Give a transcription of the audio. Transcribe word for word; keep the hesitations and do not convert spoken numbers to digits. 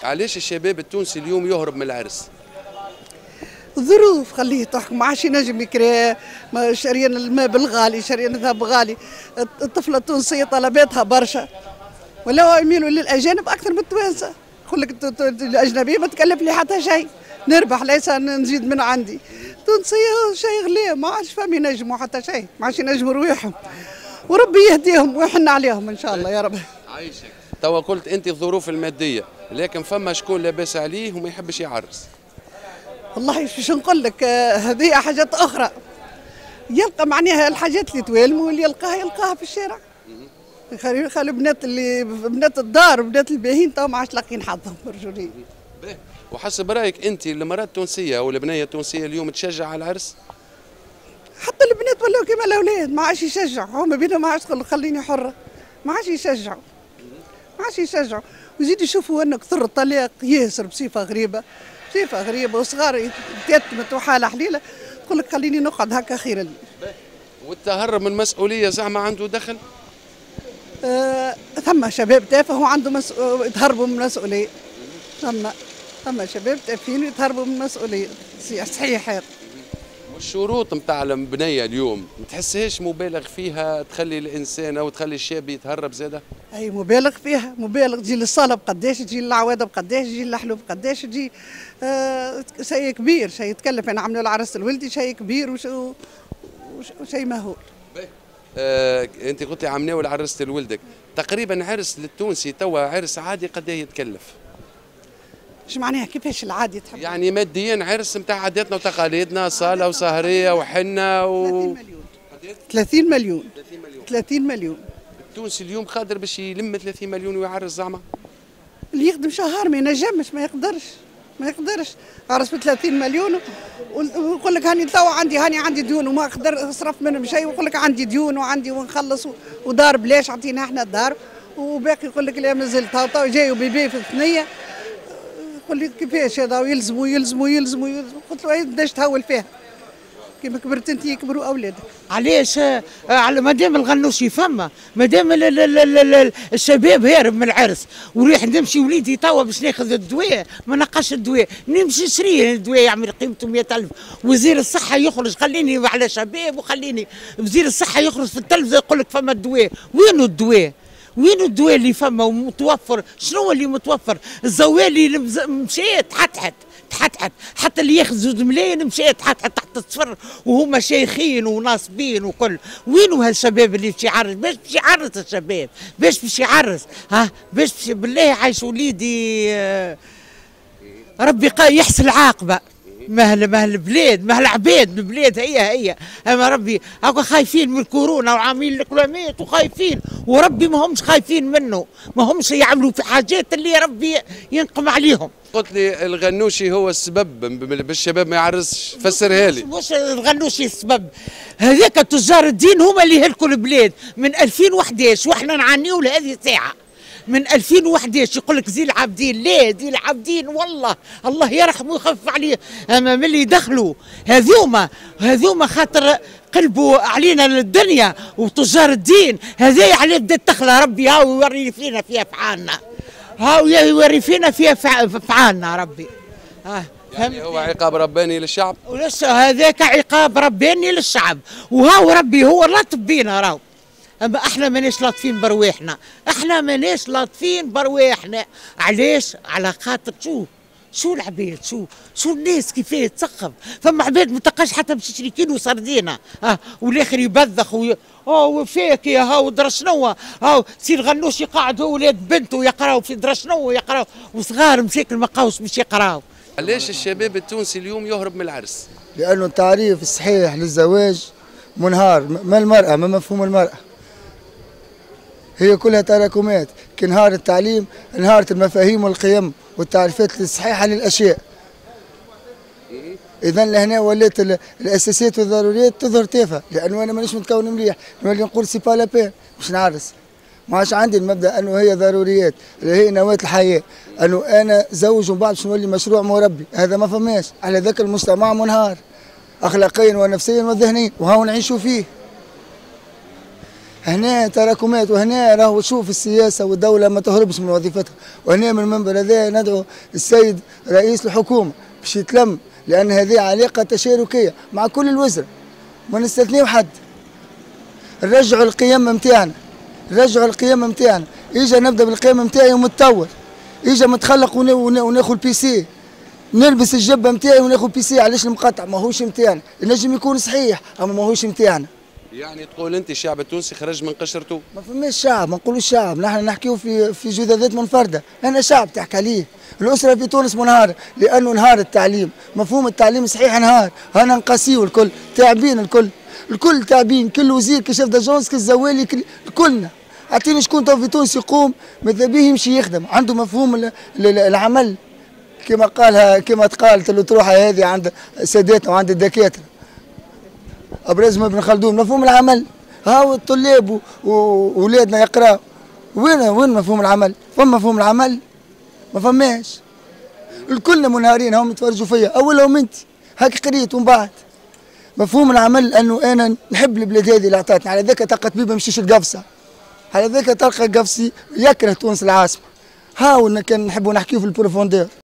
علاش الشباب التونسي اليوم يهرب من العرس؟ الظروف خليه تحكم، ما عادش ينجم يكري، شاريين الماء بالغالي، شاريين الذهب غالي، الطفلة التونسية طلباتها برشا، ولاو يميلوا للاجانب اكثر من التوانسة، يقول لك الاجنبية ما تكلف لي حتى شيء، نربح ليس نزيد من عندي. التونسية شيء غلي، ما عادش فهم ينجموا حتى شيء، ما عادش ينجموا رواحهم، وربي يهديهم ويحن عليهم ان شاء الله يا رب. عايشك. توا قلت انت الظروف المادية، لكن فما شكون لاباس عليه وما يحبش يعرس. والله باش نقول لك هذه حاجات اخرى، يلقى معناها الحاجات اللي توالموا واللي يلقاها يلقاها في الشارع. خلي بنات اللي بنات الدار وبنات الباهين تو ما عادش لاقيين حظهم برجولية. وحسب رايك انت المراة التونسية او البنية التونسية اليوم تشجع على العرس؟ حتى البنات ولاو كيما الاولاد ما عادش يشجعوا، هما بينهم ما عادش تقول خليني حره، ما عادش يشجعوا، ما عادش يشجعوا، ويزيدوا يشوفوا انه كثر الطلاق ياسر بصفة غريبة، بصفة غريبة، وصغار يتيتمت وحاله حليله، تقول لك خليني نقعد هكا خير لي. والتهرب من المسؤولية زعما عنده دخل؟ آه، ثم شباب تافه وعنده مس... يتهربوا من المسؤولية. ثم ثم شباب تافهين يتهربوا من المسؤولية، صحيح هذا. والشروط نتاع البنية اليوم ما تحسهاش مبالغ فيها تخلي الانسان او تخلي الشاب يتهرب زاده؟ اي مبالغ فيها، مبالغ، تجي للصاله بقداش، تجي للعواده بقداش، تجي للحلو بقداش، تجي آه شيء كبير، شيء يتكلف. انا عملوا العرس الولدي شيء كبير وش... وشيء مهول. آه، انت قلت لي عمناول عرست لولدك، تقريبا عرس للتونسي توا عرس عادي قد ايه يتكلف؟ اش معناها كيفاش العادي تحب؟ يعني ماديا عرس نتاع عاداتنا وتقاليدنا، صاله وسهريه وحنه و ثلاثين مليون. ثلاثين مليون. ثلاثين مليون. التونسي اليوم قادر باش يلم ثلاثين مليون ويعرس زعما؟ اللي يخدم شهر ما ينجمش، ما يقدرش، ما يقدرش عرس ب ثلاثين مليون ويقول لك هاني توا عندي هاني عندي ديون وما اقدر اصرف منهم شيء، ويقول لك عندي ديون وعندي ونخلص ودار بلاش عطينا احنا الدار، وباقي يقول لك لا مازلت تو جاي وبيبي في الثنية، يقول لي كيفاش هذا ويلزموا يلزموا يلزموا يلزموا، قلت له بداش تهول فيها كيما كبرت انت يكبروا اولادك. علاش؟ على مادام الغنوشي فما، مادام الشباب هارب من العرس، وريح نمشي وليدي توا باش ناخذ الدواء، ما نلقاش الدواء، نمشي نشريه الدواء يعمل قيمته مئة ألف، وزير الصحة يخرج خليني على شباب وخليني، وزير الصحة يخرج في التلفزة يقول لك فما الدواء، وينو الدواء؟ وين الدواء اللي فما ومتوفر؟ شنو اللي متوفر؟ الزوالي مشات تحتحت تحتحت، حتى اللي ياخذ زوج ملايين مشات تحتحت تحت الصفر، وهما شيخين وناصبين وكل، وينو هالشباب اللي باش يعرس؟ باش باش يعرس الشباب؟ باش باش يعرس؟ ها؟ باش باش بالله عايش وليدي ربي يحسن العاقبة. مهل مهل البلاد، مهل العباد، البلاد هي هي، اما ربي هاكا خايفين من الكورونا وعاملين الكلامات وخايفين، وربي ما همش خايفين منه، ما همش يعملوا في حاجات اللي ربي ينقم عليهم. قلت لي الغنوشي هو السبب بالشباب ما يعرسش، فسرها لي. مش الغنوشي السبب، هذاك تجار الدين هما اللي هلكوا البلاد من ألفين وحداش واحنا نعانيو لهذه الساعة. من ألفين وحداش يقول لك زي العابدين، لا زي العابدين والله الله يرحمه ويخفف عليه، اما من اللي دخلوا هذوما هذوما خاطر قلبوا علينا الدنيا وتجار الدين، هذايا عليه بدات تخلى ربي هاو يوري فينا في افعالنا، هاو يوري فينا في افعالنا ربي. ها يعني هو عقاب رباني للشعب؟ هذاك عقاب رباني للشعب، وهاو ربي هو لطف بينا راهو. اما احنا ماناش لاطفين برواحنا، احنا ماناش لاطفين برواحنا، علاش؟ على خاطر شو شو العباد، شو شو الناس كيفاه تسخف، فما عباد ما تلقاش حتى باش تشري كيلو سردينه، اه والاخر يبذخ وي... اه وفاكهة ها ودرا شنو، ها سي الغنوشي قاعد هو ولاد بنته يقراو في درا شنو يقراو، وصغار مساكن ما لقاوش باش يقراو. علاش الشباب التونسي اليوم يهرب من العرس؟ لانه التعريف الصحيح للزواج منهار، ما المرأة، ما مفهوم المرأة؟ هي كلها تراكمات، كي نهار التعليم انهارت المفاهيم والقيم والتعريفات الصحيحة للأشياء. إذا لهنا ولات الأساسيات والضروريات تظهر تافهة، لأنه أنا مانيش متكون مليح، نولي نقول c'est pas la peine باش نعرس. ما عادش عندي المبدأ أنه هي ضروريات، اللي هي نواة الحياة، أنه أنا زوج ومن بعد باش نولي مشروع مربي، هذا ما فماش، على ذاك المجتمع منهار أخلاقيا ونفسيا وذهنيا، وهاو نعيشوا فيه. هنا تراكمات، وهنا راهو شوف السياسة والدولة ما تهربش من وظيفتها. وهنا من المنبر هذا ندعو السيد رئيس الحكومة باش يتلم، لان هذه علاقة تشاركيه مع كل الوزراء، ما نستثنيو حد. نرجعوا القيم نتاعنا، نرجعوا القيم نتاعنا. اجا نبدا بالقيم نتاعي ومتطور، اجا متخلق وناخذ PC، نلبس الجبة نتاعي وناخذ PC. علاش المقطع ماهوش نتاعنا؟ ينجم يكون صحيح اما ماهوش نتاعنا. يعني تقول انت الشعب التونسي خرج من قشرته؟ ما فماش شعب، ما نقولوش شعب، نحن نحكيو في في جذاذات منفردة، انا شعب تحكي عليه. الاسرة في تونس منهاره لانه نهار التعليم، مفهوم التعليم صحيح نهار، انا نقاسيو الكل، تعبين الكل، الكل تعبين، كل وزير كل chef d'agence كل زوالي كل كلنا. اعطيني شكون تو في تونس يقوم ماذا به يمشي يخدم، عنده مفهوم العمل كما قالها كما تقالت الاطروحه هذه عند ساداتنا وعند الدكاترة. ابرزهم ابن خلدون، مفهوم العمل، هاو الطلاب واولادنا يقراوا، وين وين مفهوم العمل؟ فما مفهوم العمل؟ ما فماش. الكل منهارين هم يتفرجوا فيا، اولهم انت هاك قريت ومن بعد. مفهوم العمل انه انا نحب البلاد هذه اللي عطاتني، على ذاك تلقى طبيب ما يمشيش القفصه، على ذاك تلقى قفصي يكره تونس العاصمة. هاو كان نحبوا نحكيو في ال profondeur.